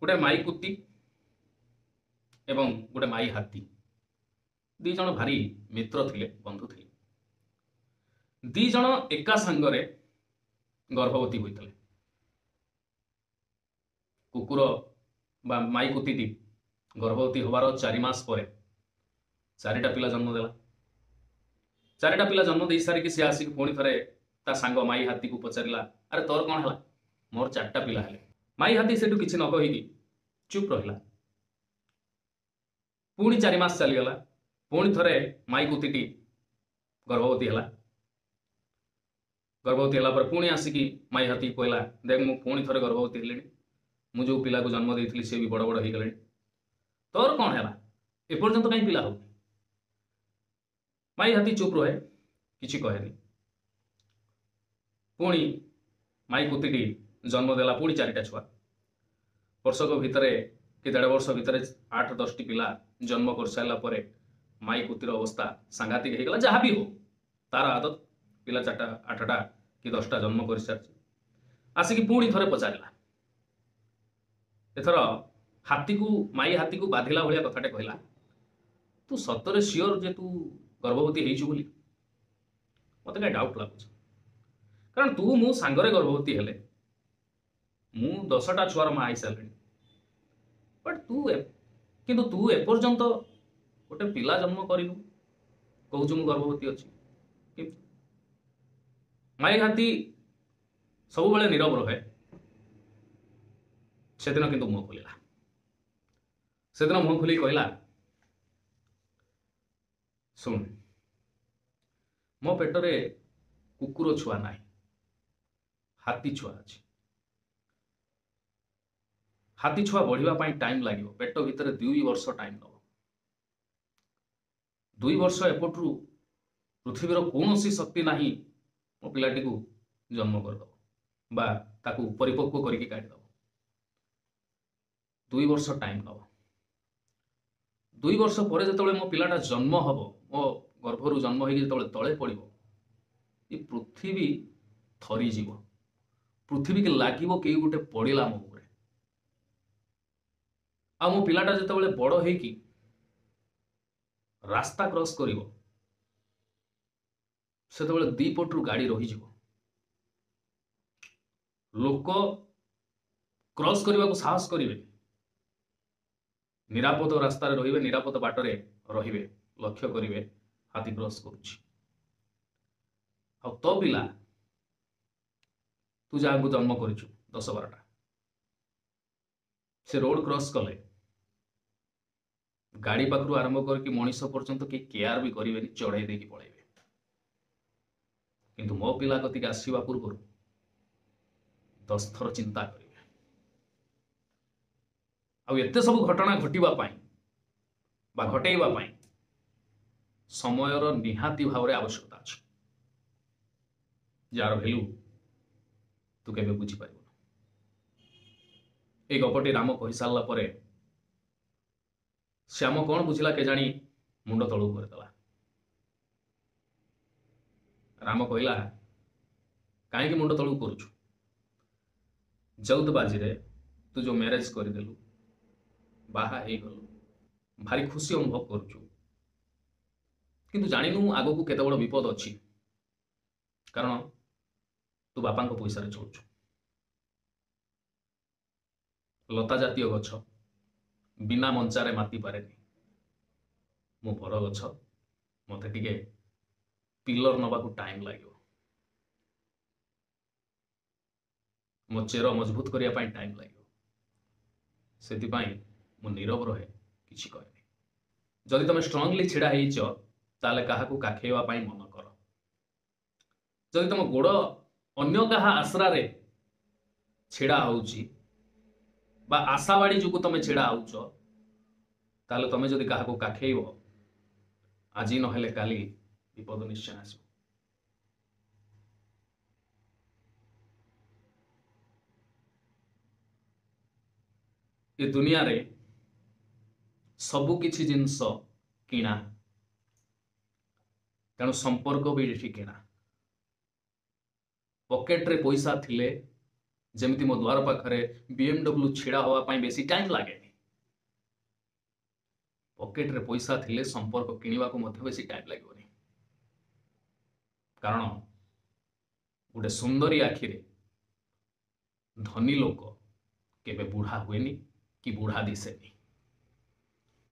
ଗୋଟେ ମାଇ କୁତି ଏବଂ ଗୋଟେ ମାଇ ହାତୀ, ଦି ଜଣ ଭାରି ମିତ୍ର ଥିଲେ, ବନ୍ଧୁ ଥିଲେ। ଦି ଜଣ ଏକା ସାଙ୍ଗରେ ଗର୍ଭବତୀ ହୋଇଥିଲେ। କୁକୁର ବା ମାଇ କୁତିଟି ଗର୍ଭବତୀ ହେବାର 4 ମାସ ପରେ 4ଟା ପିଲା ଜନ୍ମ ଦେଲା। 4ଟା ପିଲା ଜନ୍ମ ଦେଇ ସାରିକି ସେ ଆସିକି ପୁଣି ଥରେ ତା ସାଙ୍ଗ ମାଇ ହାତୀକୁ ପଚାରିଲା, ଆରେ ତୋର କ'ଣ ହେଲା? ମୋର 4ଟା ପିଲା ହେଲେ। ମାଇ ହାତୀ ସେଠୁ କିଛି ନ କହିକି ଚୁପ୍ ରହିଲା। ପୁଣି 4 ମାସ ଚାଲିଗଲା। ପୁଣି ଥରେ ମାଇ କୁତିଟି ଗର୍ଭବତୀ ହେଲା। ଗର୍ଭବତୀ ହେଲା ପରେ ପୁଣି ଆସିକି ମାଇ ହାତୀ କହିଲା, ଦେଖ ମୁଁ ପୁଣି ଥରେ ଗର୍ଭବତୀ ହେଲିଣି, ମୁଁ ଯେଉଁ ପିଲାକୁ ଜନ୍ମ ଦେଇଥିଲି ସେ ବି ବଡ଼ ବଡ଼ ହେଇଗଲେଣି, ତୋର କ'ଣ ହେଲା? ଏପର୍ଯ୍ୟନ୍ତ କାହିଁ ପିଲା ହଉନି? ମାଇ ହାତୀ ଚୁପ୍ ରୁହେ, କିଛି କହେନି। ପୁଣି ମାଇ କୁତିଟି ଜନ୍ମ ଦେଲା ପୁଣି 4ଟା ଛୁଆ। ବର୍ଷକ ଭିତରେ କି 1.5 ବର୍ଷ ଭିତରେ 8-10ଟି ପିଲା ଜନ୍ମ କରିସାରିଲା ପରେ ମାଇ କୁତିର ଅବସ୍ଥା ସାଂଘାତିକ ହେଇଗଲା। ଯାହା ବି ହଉ ତାର ଆଦତ, ପିଲା 4ଟା 8ଟା କି 10ଟା ଜନ୍ମ କରିସାରିଛି। ଆସିକି ପୁଣି ଥରେ ପଚାରିଲା। ଏଥର ହାତୀକୁ, ମାଇ ହାତୀକୁ ବାଧିଲା ଭଳିଆ କଥାଟେ କହିଲା, ତୁ ସତରେ ସିଓର ଯେ ତୁ ଗର୍ଭବତୀ ହେଇଛୁ ବୋଲି? ମତେ କାହିଁ ଡାଉଟ୍ ଲାଗୁଛି, କାରଣ ତୁ ମୁଁ ସାଙ୍ଗରେ ଗର୍ଭବତୀ ହେଲେ ମୁଁ 10ଟା ଛୁଆର ମା ହେଇସାରିଲିଣି, ବଟ୍ ତୁ କିନ୍ତୁ ତୁ ଏପର୍ଯ୍ୟନ୍ତ ଗୋଟେ ପିଲା ଜନ୍ମ କରିନୁ, କହୁଛୁ ମୁଁ ଗର୍ଭବତୀ ଅଛି। ମାଇ ହାତୀ ସବୁବେଳେ ନୀରବ ରହେ। ସେଦିନ କିନ୍ତୁ ମୁହଁ ଖୋଲିଲା। ସେଦିନ ମୁହଁ ଖୋଲିକି କହିଲା, ଶୁଣ, ମୋ ପେଟରେ କୁକୁର ଛୁଆ ନାହିଁ, ହାତୀ ଛୁଆ ଅଛି। ହାତୀ ଛୁଆ ବଢିବା ପାଇଁ ଟାଇମ୍ ଲାଗିବ, ପେଟ ଭିତରେ 2 ବର୍ଷ ଟାଇମ୍ ନେବ। 2 ବର୍ଷ ଏପଟରୁ ପୃଥିବୀର କୌଣସି ଶକ୍ତି ନାହିଁ ମୋ ପିଲାଟିକୁ ଜନ୍ମ କରିଦେବ ବା ତାକୁ ପରିପକ୍ୱ କରିକି କାଢ଼ିଦେବ। 2 ବର୍ଷ ଟାଇମ୍ ନେବ। 2 ବର୍ଷ ପରେ ଯେତେବେଳେ ମୋ ପିଲାଟା ଜନ୍ମ ହବ, ମୋ ଗର୍ଭରୁ ଜନ୍ମ ହେଇକି ଯେତେବେଳେ ତଳେ ପଡ଼ିବ, ଏ ପୃଥିବୀ ଥରିଯିବ। ପୃଥିବୀକି ଲାଗିବ କେହି ଗୋଟେ ପଡ଼ିଲା ମୋ ଉପରେ। ଆଉ ମୋ ପିଲାଟା ଯେତେବେଳେ ବଡ଼ ହେଇକି ରାସ୍ତା କ୍ରସ୍ କରିବ, ସେତେବେଳେ 2 ପଟରୁ ଗାଡ଼ି ରହିଯିବ। ଲୋକ କ୍ରସ୍ କରିବାକୁ ସାହସ କରିବେ, ନିରାପଦ ରାସ୍ତାରେ ରହିବେ, ନିରାପଦ ବାଟରେ ରହିବେ, ଲକ୍ଷ୍ୟ କରିବେ ହାତୀ କ୍ରସ୍ କରୁଛି। ଆଉ ତୋ ପିଲା, ତୁ ଯାହାକୁ ଜନ୍ମ କରିଛୁ 10-12ଟା, ସେ ରୋଡ କ୍ରସ୍ କଲେ ଗାଡ଼ି ପାଖରୁ ଆରମ୍ଭ କରିକି ମଣିଷ ପର୍ଯ୍ୟନ୍ତ କେହି କେୟାର ବି କରିବେନି, ଚଢ଼େଇ ଦେଇକି ପଳେଇବେ। କିନ୍ତୁ ମୋ ପିଲା କତିକି ଆସିବା ପୂର୍ବରୁ 10 ଥର ଚିନ୍ତା କରିବେ। ଆଉ ଏତେ ସବୁ ଘଟଣା ଘଟିବା ପାଇଁ ବା ଘଟେଇବା ପାଇଁ ସମୟର ନିହାତି ଭାବରେ ଆବଶ୍ୟକତା ଅଛି, ଯାହାର ଭ୍ୟାଲୁ ତୁ କେବେ ବୁଝିପାରିବୁନୁ। ଏଇ ଗପଟି ରାମ କହିସାରିଲା ପରେ ଶ୍ୟାମ କ'ଣ ବୁଝିଲା କେଜାଣି, ମୁଣ୍ଡ ତଳକୁ କରିଦେଲା। ରାମ କହିଲା, କାହିଁକି ମୁଣ୍ଡ ତଳକୁ କରୁଛୁ? ଜଲ୍ଦବାଜିରେ ତୁ ଯୋଉ ମ୍ୟାରେଜ କରିଦେଲୁ, ବାହା ହେଇଗଲୁ, ଭାରି ଖୁସି ଅନୁଭବ କରୁଛୁ, କିନ୍ତୁ ଜାଣିନୁ ଆଗକୁ କେତେ ବଡ଼ ବିପଦ ଅଛି, କାରଣ ତୁ ବାପାଙ୍କ ପଇସାରେ ଚଳୁଛୁ। ଲତା ଜାତୀୟ ଗଛ ବିନା ମଞ୍ଚାରେ ମାତି ପାରେନି। ମୁଁ ବରଗଛ, ମୋତେ ଟିକେ ପିଲର ନେବାକୁ ଟାଇମ୍ ଲାଗିବ, ମୋ ଚେର ମଜବୁତ କରିବା ପାଇଁ ଟାଇମ୍ ଲାଗିବ, ସେଥିପାଇଁ ମୁଁ ନୀରବ ରହେ, କିଛି କହେନି। ଯଦି ତମେ ଷ୍ଟ୍ରଙ୍ଗଲି ଛିଡ଼ା ହେଇଛ, ତାହେଲେ କାହାକୁ କାଖେଇବା ପାଇଁ ମନ କର। ଯଦି ତମ ଗୋଡ଼ ଅନ୍ୟ କାହା ଆଶ୍ରାରେ ଛିଡ଼ା ହଉଛି ବା ଆଶାବାଡ଼ି ଯୋଗୁଁ ତମେ ଛିଡ଼ା ହଉଛ, ତାହେଲେ ତମେ ଯଦି କାହାକୁ କାଖେଇବ, ଆଜି ନହେଲେ କାଲି ବିପଦ ନିଶ୍ଚୟ ଆସିବ। ଏ ଦୁନିଆରେ ସବୁ କିଛି ଜିନିଷ କିଣା, ତେଣୁ ସମ୍ପର୍କ ବି ଏଠି କିଣା। ପକେଟରେ ପଇସା ଥିଲେ ଯେମିତି ମୋ ଦ୍ୱାର ପାଖରେ BMW ଛିଡ଼ା ହେବା ପାଇଁ ବେଶୀ ଟାଇମ୍ ଲାଗେନି। ପକେଟରେ ପଇସା ଥିଲେ ସମ୍ପର୍କ କିଣିବାକୁ ମଧ୍ୟ ବେଶୀ ଟାଇମ୍ ଲାଗିବନି, କାରଣ ଗୋଟେ ସୁନ୍ଦରୀ ଆଖିରେ ଧନୀ ଲୋକ କେବେ ବୁଢ଼ା ହୁଏନି କି ବୁଢ଼ା ଦିଶେନି।